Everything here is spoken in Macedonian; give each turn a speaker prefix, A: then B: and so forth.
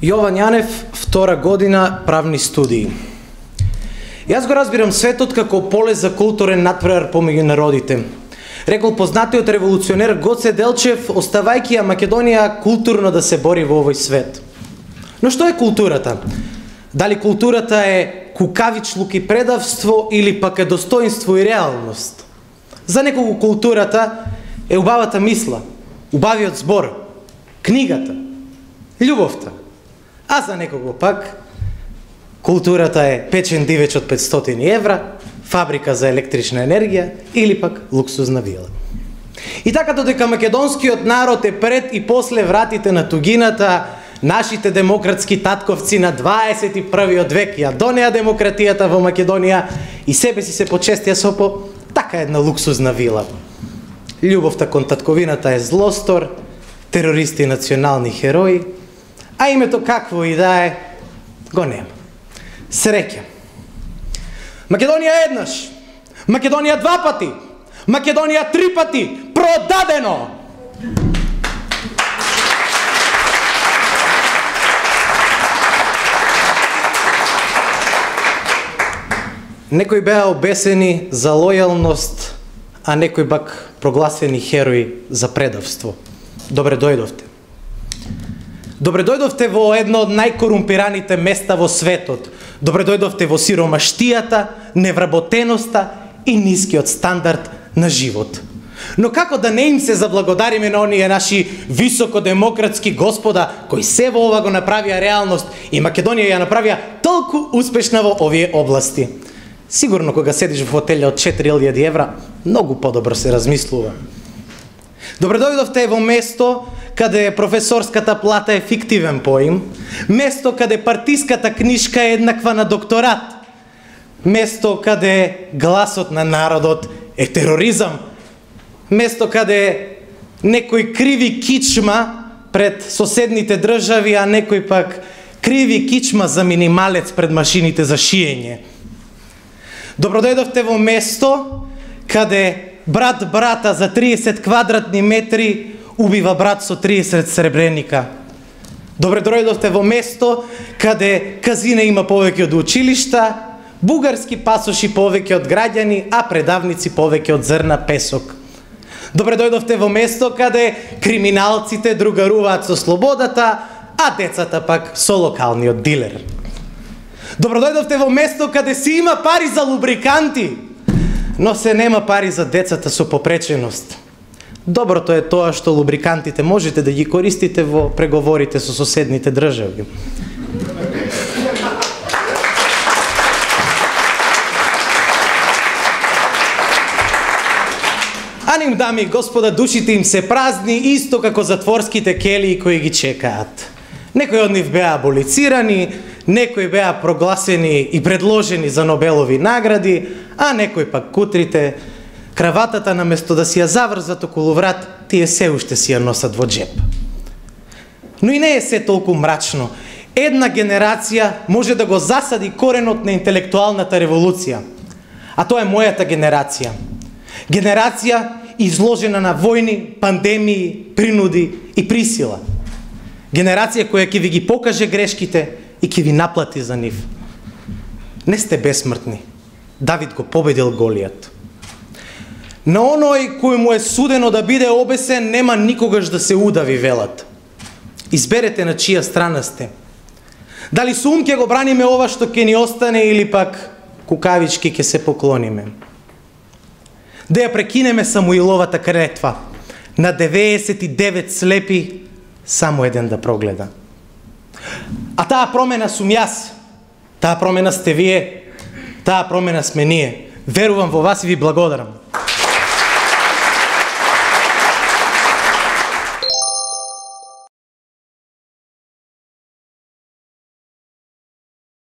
A: Јован Јанев, втора година правни студии. Јас го разбирам светот како поле за културен натпревар помеѓу народите. Рекол познатиот револуционер Гоце Делчев, оставајќи ја Македонија културно да се бори во овој свет. Но што е културата? Дали културата е кукавичлук и предавство или пак е достоинство и реалност? За некого културата е убавата мисла, убавиот збор, книгата, љубовта. А за некого пак културата е печен дивеч од 500 евра, фабрика за електрична енергија или пак луксузна вила. И така додека македонскиот народ е пред и после вратите на тугината, нашите демократски татковци на 21 век ја донеа демократијата во Македонија и себе си се почестија со така една луксузна вила. Љубовта кон татковината е злостор, терористи и национални херои, а името какво и да е, го нема. Среќа. Македонија еднаш, Македонија два пати, Македонија три пати, продадено! Некои беа обесени за лојалност, а некои пак прогласени херои за предавство. Добре дојдовте. Добре дојдовте во едно од најкорумпираните места во светот. Добре дојдовте во сиромаштијата, невработеноста и нискиот стандард на живот. Но како да не им се заблагодариме на оние наши високодемократски господа кои се во ова го направија реалност и Македонија ја направија толку успешна во овие области? Сигурно кога седиш во хотелја од 4000 евра, многу подобро се размислува. Добре дојдовте во место каде професорската плата е фиктивен поим, место каде партиската книшка е еднаква на докторат, место каде гласот на народот е тероризам, место каде некој криви кичма пред соседните држави, а некој пак криви кичма за минималец пред машините за шиење. Добро дојдовте во место каде брат брата за 30 квадратни метри убива брат со 30 сребреника. Добре дојдовте во место каде казине има повеќе од училишта, бугарски пасоши повеќе од граѓани, а предавници повеќе од зрна песок. Добре дојдовте во место каде криминалците другаруваат со слободата, а децата пак со локалниот дилер. Добро дојдовте во место каде си има пари за лубриканти, но се нема пари за децата со попреченост. Доброто е тоа што лубрикантите можете да ги користите во преговорите со соседните држави. А ним, дами и господа, душите им се празни, исто како затворските келии кои ги чекаат. Некои од нив беа аболицирани, некои беа прогласени и предложени за Нобелови награди, а некои пак кутрите, краватата наместо да си ја заврзат околу врат, тие се уште си ја носат во джеп. Но и не е се толку мрачно. Една генерација може да го засади коренот на интелектуалната револуција. А тоа е мојата генерација. Генерација изложена на војни, пандемии, принуди и присила. Генерација која ќе ви ги покаже грешките и ќе ви наплати за нив. Не сте бесмртни. Давид го победил Голијат. На оној кој му е судено да биде обесен, нема никогаш да се удави, велат. Изберете на чија страна сте. Дали со ум ќе го браниме ова што ќе ни остане или пак кукавички ќе се поклониме. Да ја прекинеме Самуиловата клетва. На 99 слепи само еден да прогледа. А таа промена сум јас. Таа промена сте вие. Таа промена сме ние. Верувам во вас и ви благодарам.